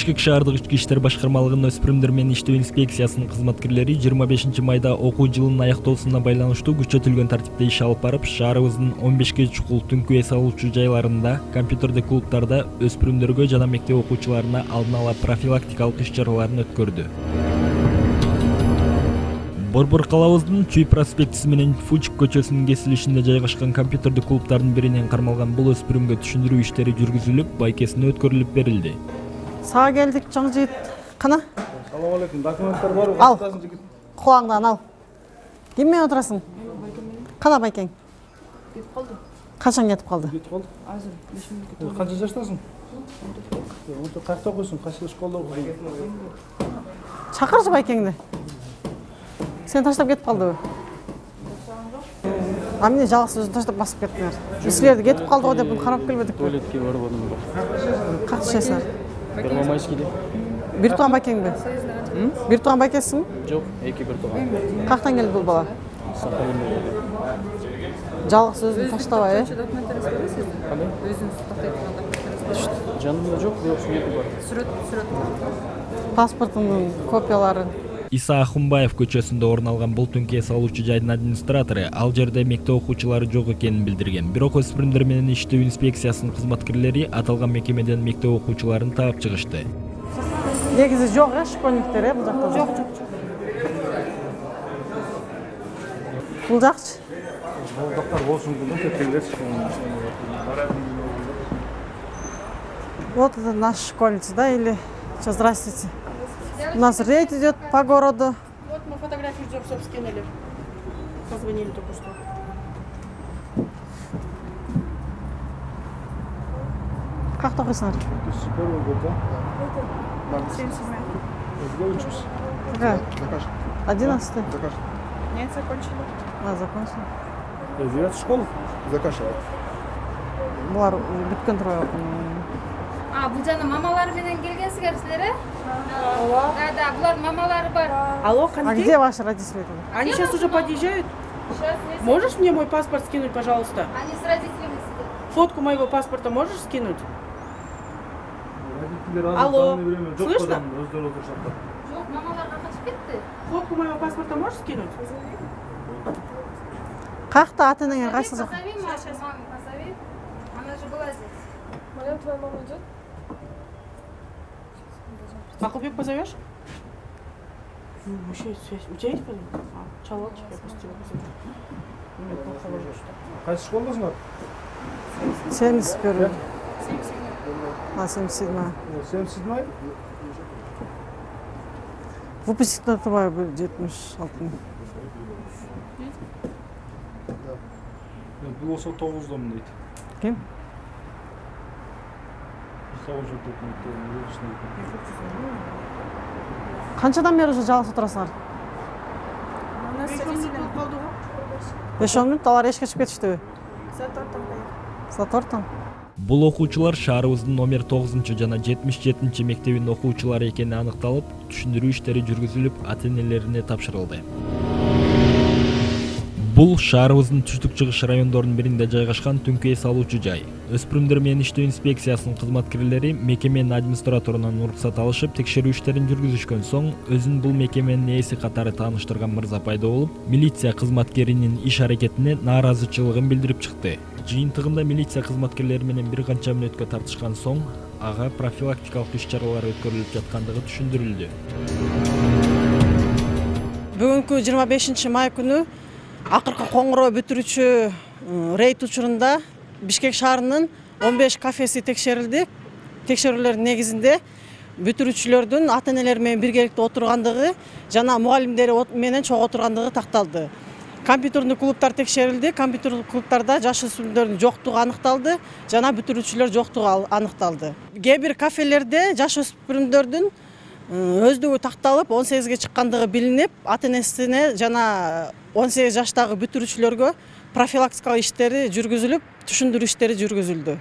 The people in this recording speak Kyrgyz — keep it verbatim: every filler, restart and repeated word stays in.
Бишкек шаардык ички иштер башкармалыгынын өспүрүмдөр менен иштөө инспекциясынын кызматкерлери жыйырма бешинчи майда окуу жылынын аяктоосуна байланыштуу күчөтүлгөн тартипте иш алып барып, шаарыбыздын он бешке чукул түнкү эс алуучу жайларында, компьютердик клубтарда өспүрүмдөргө жана мектеп окуучуларына алдын ала профилактикалык иш-чараларын өткөрдү. Борбор калабыздын Чүй проспектиси менен Фучик көчөсүнүн кесилишинде жайгашкан компьютердик клубтардын биринен кармалган бул өспүрүмгө түшүндүрүү иштери жүргүзүлүп, байкесине өткөрүлүп берилди. Сага келдик, чоң жигит. Кана? Салам алейкум. Документтер бар, ал. каттасын жигит. Кулаңдан ал. Ким менен отурасың? Кана байкең? Кетип калды. Качан кетип калды? Кетип калды. Азыр беш мүнөт кетип. Канча жаштасың? он төрт. Кайда окуйсуң? Кайсы школда окуйсуң? Чакырчы байкеңди. Сен таштап кетип калдыбы? А эмне жалгыз өзүн таштап басып кеттиңер? Силерди кетип калды го деп карап келбедикпи? Туалетке барбадым. Как түшөсүңөр? Первомайскийде. Бир тууган байкеңби? Бир тууган байкесиңби? Жок, эки бир тууган. Кактан келди бул бала? Сахалинден. Жалгыз өзүн таштабай, э? Документтериңиз бар сиздин? Кандай? Өзүңүз тактай турган документтериңиз бар? Жанымда жок, бирок сүрөтү бар. Сүрөт, сүрөт. Паспортунун копиялары. Иса Ахунбаев көчөсүндө орун алган бул түнкү эс алуучу жайдын администратору ал жерде мектеп окуучулары жок экенин билдирген. Бирок өспүрүмдөр менен иштөө инспекциясынын кызматкерлери аталган мекемеден мектеп окуучуларын таап чыгышты. Негизи жок, э, школьниктер, э, бул жакта. Жок, жок, жок. Бул жакчы. Балдактар болсун деп кеткенлерчи. Вот это наша школьница, да, или что, здравствуйте. У нас рейд идет по городу. Вот мы фотографию ждем, чтобы скинули. Позвонили только что. Как то окуйсуңар? Первый год, да? семьдесят седьмой. Где учишься? Какая? Закаж. Одиннадцатый. Закаж. Нет, закончили. А, закончили. Девятая школа? Закашивать. Булар бүткөн турбайбы? А, бул жана мамалары менен келгенсиңер силер, э? Ооба. Да, да, булардын мамалары бар. Алло, А Канди? где ваши родители? Они сейчас уже подъезжают. Сейчас, если- Можешь мне мой паспорт скинуть, пожалуйста? Они с родителями сидят. Фотку моего паспорта можешь скинуть? Родители Алло, разные время. Жок слышно? кодан өздөрү отурушат. Жок, мамаларга качып кетти. Фотку моего паспорта можешь скинуть? Какта ата-энеңер кайсы жак? Позови маму, маму позови. Она же была здесь. Моя твоя мама идет? Макулбек позовешь? Ну, еще есть связь. У тебя есть позов? А, Чалотчик, я просто тебя позову. Ну, это плохо. Кайсы школдасыңар? семьдесят первый. А, семьдесят седьмая. семьдесят седьмой? Выпускниктер турбайбы жетимиш алтынчы. Бул болсо тогуздон дейт. Ким? тогуз жыл өтүп. Канчадан бери уже жалгыз отурасыңар? беш он мүнөт, алар эшикке чыгып кетиштиби? Саат төрттөн. Бул окуучулар шаарыбыздын номер тогузунчу жана жетимиш жетинчи мектебинин окуучулары экени аныкталып, түшүндүрүү иштери жүргүзүлүп, ата-энелерине тапшырылды. Бул шаарыбыздын түштүк чыгыш райондорунун биринде жайгашкан түнкү эс алуучу жай. Өспүрүмдөр менен иштөө инспекциясынын кызматкерлери мекеменин администраторунан уруксат алышып, текшерүү иштерин жүргүзүшкөн соң, өзүн бул мекеменин ээси катары тааныштырган мырза пайда болуп, милиция кызматкеринин иш аракетине нааразычылыгын билдирип чыкты. Жыйынтыгында милиция кызматкерлери менен бир канча мүнөткө тартышкан соң, ага профилактикалык иш-чаралар өткөрүлүп жаткандыгы түшүндүрүлдү. Бүгүнкү жыйырма бешинчи май күнү акыркы коңгуроо бүтүрүүчү рейд учурунда Бишкек шаарынын он беш кафеси текшерилди. Текшерүүлөрдүн негизинде бүтүрүүчүлөрдүн ата-энелери менен биргеликте отургандыгы жана мугалимдери менен чогуу отургандыгы такталды. Компьютердик клубтар текшерилди. Компьютердик клубтарда жаш өспүрүмдөрдүн жоктугу аныкталды, жана бүтүрүүчүлөр жоктугу аныкталды. Кээ бир кафелерде жаш өспүрүмдөрдүн өздүгү такталып, он сегизге чыккандыгы билинип, ата-энесине жана он сегиз жаштагы бүтүрүүчүлөргө профилактикалык иштери жүргүзүлүп, түшүндүрүү иштери жүргүзүлдү.